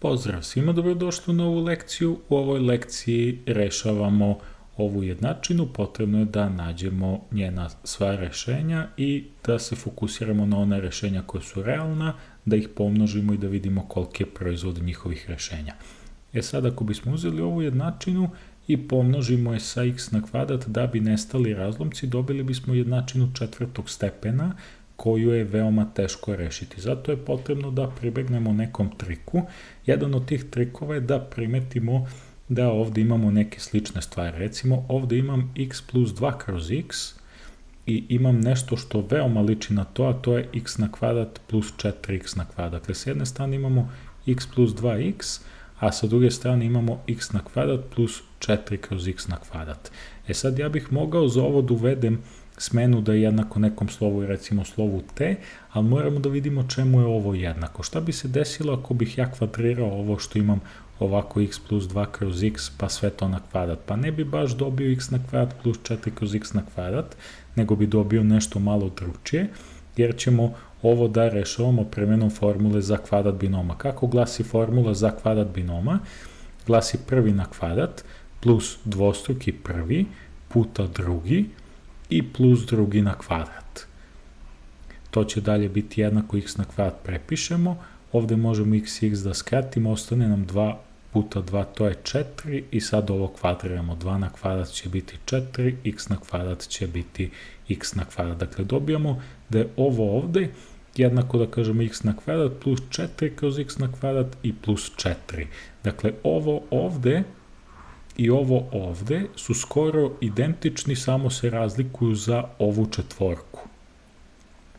Pozdrav svima, dobrodošli u novu lekciju. U ovoj lekciji rešavamo ovu jednačinu, potrebno je da nađemo njena sva rešenja i da se fokusiramo na one rešenja koja su realna, da ih pomnožimo i da vidimo koliki je proizvod njihovih rešenja. Sad ako bismo uzeli ovu jednačinu i pomnožimo je sa x na kvadrat da bi nestali razlomci, dobili bismo jednačinu četvrtog stepena, koju je veoma teško rešiti. Zato je potrebno da pribegnemo nekom triku. Jedan od tih trikova je da primetimo da ovde imamo neke slične stvari. Recimo, ovde imam x plus 2 kroz x i imam nešto što veoma liči na to, a to je x na kvadrat plus 4x na kvadrat. Dakle, s jedne strane imamo x plus 2x, a sa druge strane imamo x na kvadrat plus 4 kroz x na kvadrat. Sad ja bih mogao za ovo da uvedem smenu da je jednako nekom slovu, recimo slovu t, ali moramo da vidimo čemu je ovo jednako. Šta bi se desilo ako bih ja kvadrirao ovo što imam ovako x plus 2 kroz x pa sve to na kvadrat? Pa ne bi baš dobio x na kvadrat plus 4 kroz x na kvadrat, nego bi dobio nešto malo drugčije, jer ćemo ovo da rešavamo premenom formule za kvadrat binoma. Kako glasi formula za kvadrat binoma? Glasi prvi na kvadrat plus dvostruki prvi puta drugi i plus drugi na kvadrat. To će dalje biti jednako x na kvadrat prepišemo, ovde možemo x i x da skratimo, ostane nam 2 puta 2, to je 4 i sad ovo kvadriramo, 2 na kvadrat će biti 4, x na kvadrat će biti x na kvadrat. Dakle, dobijamo da je ovo ovde jednako da kažemo x na kvadrat plus 4 kroz x na kvadrat i plus 4. Dakle, ovo ovde i ovo ovde su skoro identični, samo se razlikuju za ovu četvorku.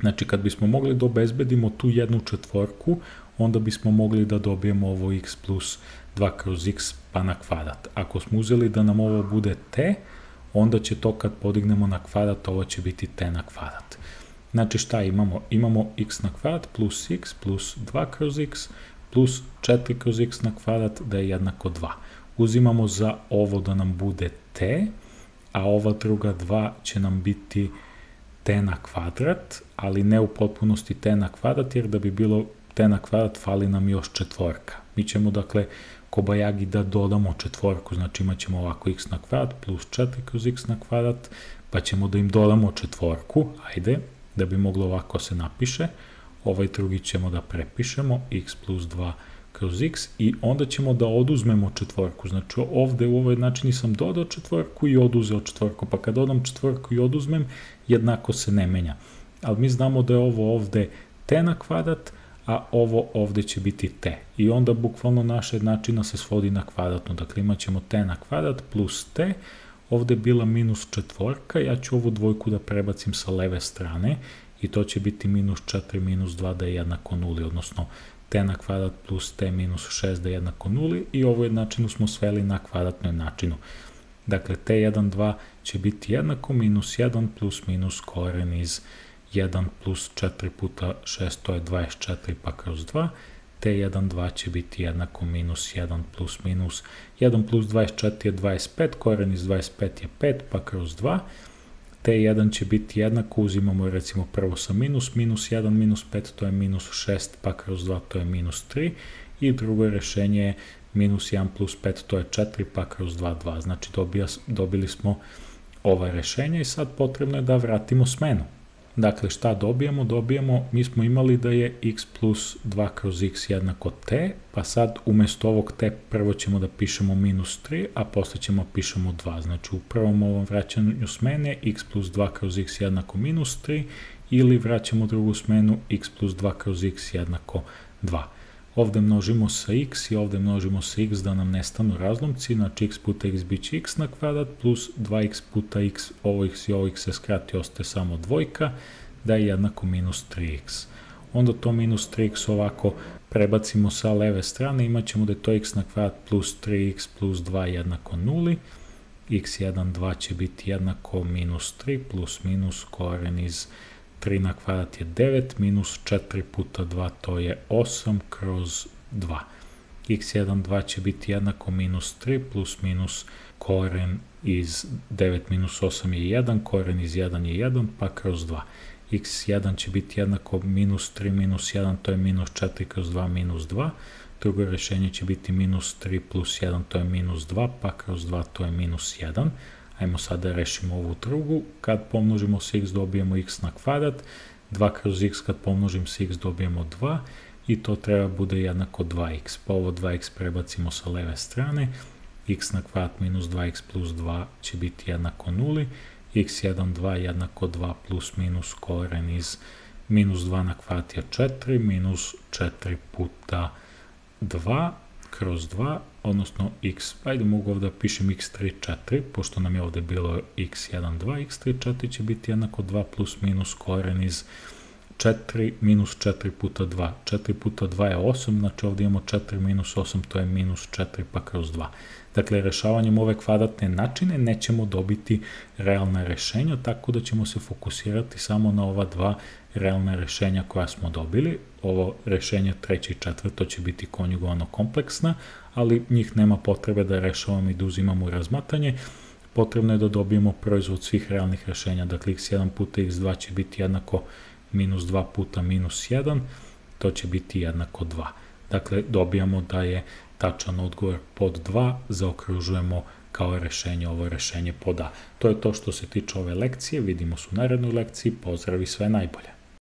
Znači, kad bismo mogli da obezbedimo tu jednu četvorku, onda bismo mogli da dobijemo ovo x plus 2 kroz x pa na kvadrat. Ako smo uzeli da nam ovo bude t, onda će to kad podignemo na kvadrat, ovo će biti t na kvadrat. Znači, šta imamo? Imamo x na kvadrat plus x plus 2 kroz x plus 4 kroz x na kvadrat da je jednako 2. Uzimamo za ovo da nam bude t, a ova druga 2 će nam biti t na kvadrat, ali ne u potpunosti t na kvadrat, jer da bi bilo t na kvadrat fali nam još četvorka. Mi ćemo, dakle, kobajagi da dodamo četvorku, znači imat ćemo ovako x na kvadrat plus 4 kroz x na kvadrat, pa ćemo da im dodamo četvorku, ajde, da bi moglo ovako se napiše, ovaj drugi ćemo da prepišemo, x plus 2 kroz x i onda ćemo da oduzmemo četvorku. Znači ovde u ovoj jednačini sam dodao četvorku i oduzeo četvorku, pa kad dodam četvorku i oduzmem, jednako se ne menja. Ali mi znamo da je ovo ovde t na kvadrat, a ovo ovde će biti t. I onda bukvalno naša jednačina se svodi na kvadratnu. Dakle, imat ćemo t na kvadrat plus t, ovde je bila minus četvorka, ja ću ovu dvojku da prebacim sa leve strane i to će biti minus 4 minus 2 da je jednako nuli, odnosno t na kvadrat plus t minus 6 da je jednako nuli i ovu jednačinu smo sveli na kvadratnu jednačinu. Dakle, t1, 2 će biti jednako minus 1 plus minus koren iz 1 plus 4 puta 6, to je 24 pa kroz 2. t1, 2 će biti jednako minus 1 plus minus 1 plus 24 je 25, koren iz 25 je 5 pa kroz 2. t1 će biti jednako, uzimamo recimo prvo sa minus 1 minus 5, to je minus 6, pa kroz 2, to je minus 3, i drugo rešenje je minus 1 plus 5, to je 4, pa kroz 2, 2. Znači dobili smo ova rešenja i sad potrebno je da vratimo smenu. Dakle, šta dobijamo? Dobijamo, mi smo imali da je x plus 2 kroz x jednako t, pa sad umesto ovog t prvo ćemo da pišemo minus 3, a posle ćemo pišemo 2. Znači, u prvom ovom vraćanju smene x plus 2 kroz x jednako minus 3, ili vraćamo drugu smenu x plus 2 kroz x jednako 2. Ovde množimo sa x i ovde množimo sa x da nam nestanu razlomci, znači x puta x bit će x na kvadrat plus 2x puta x, ovo x i ovo x se skrati, ostaje samo dvojka, da je jednako minus 3x. Onda to minus 3x ovako prebacimo sa leve strane, imat ćemo da je to x na kvadrat plus 3x plus 2 jednako nuli, x1, 2 će biti jednako minus 3 plus minus koren iz 3 na kvadrat je 9, minus 4 puta 2, to je 8 kroz 2. x1, 2 će biti jednako minus 3 plus minus koren iz 9 minus 8 je 1, koren iz 1 je 1, pa kroz 2. x1 će biti jednako minus 3 minus 1, to je minus 4 kroz 2 minus 2, drugo rješenje će biti minus 3 plus 1, to je minus 2, pa kroz 2 to je minus 1. Ajmo sad da rešimo ovu drugu. Kad pomnožimo s x dobijemo x na kvadrat, 2 kroz x kad pomnožim s x dobijemo 2 i to treba bude jednako 2x. Pa ovo 2x prebacimo sa leve strane, x na kvadrat minus 2x plus 2 će biti jednako 0, x1, 2 jednako 2 plus minus koren iz minus 2 na kvadrat je 4, minus 4 puta 2 kroz 2, odnosno x, ajde mogu ovdje da pišem x3, 4, pošto nam je ovdje bilo x1, 2, x3, 4 će biti jednako 2 plus minus koren iz 4 minus 4 puta 2. 4 puta 2 je 8, znači ovdje imamo 4 minus 8, to je minus 4 pa kroz 2. Dakle, rešavanjem ove kvadratne načine nećemo dobiti realna rešenja, tako da ćemo se fokusirati samo na ova dva realna rešenja koja smo dobili. Ovo rešenje treće i četvrto će biti konjugovano kompleksna, ali njih nema potrebe da rešavamo i da uzimamo u razmatranje. Potrebno je da dobijemo proizvod svih realnih rešenja, dakle x1 puta x2 će biti jednako minus 2 puta minus 1, to će biti jednako 2. Dakle, dobijamo da je tačan odgovor pod 2, zaokružujemo kao rešenje ovo rešenje pod A. To je to što se tiče ove lekcije, vidimo se u narednoj lekciji, pozdrav i sve najbolje.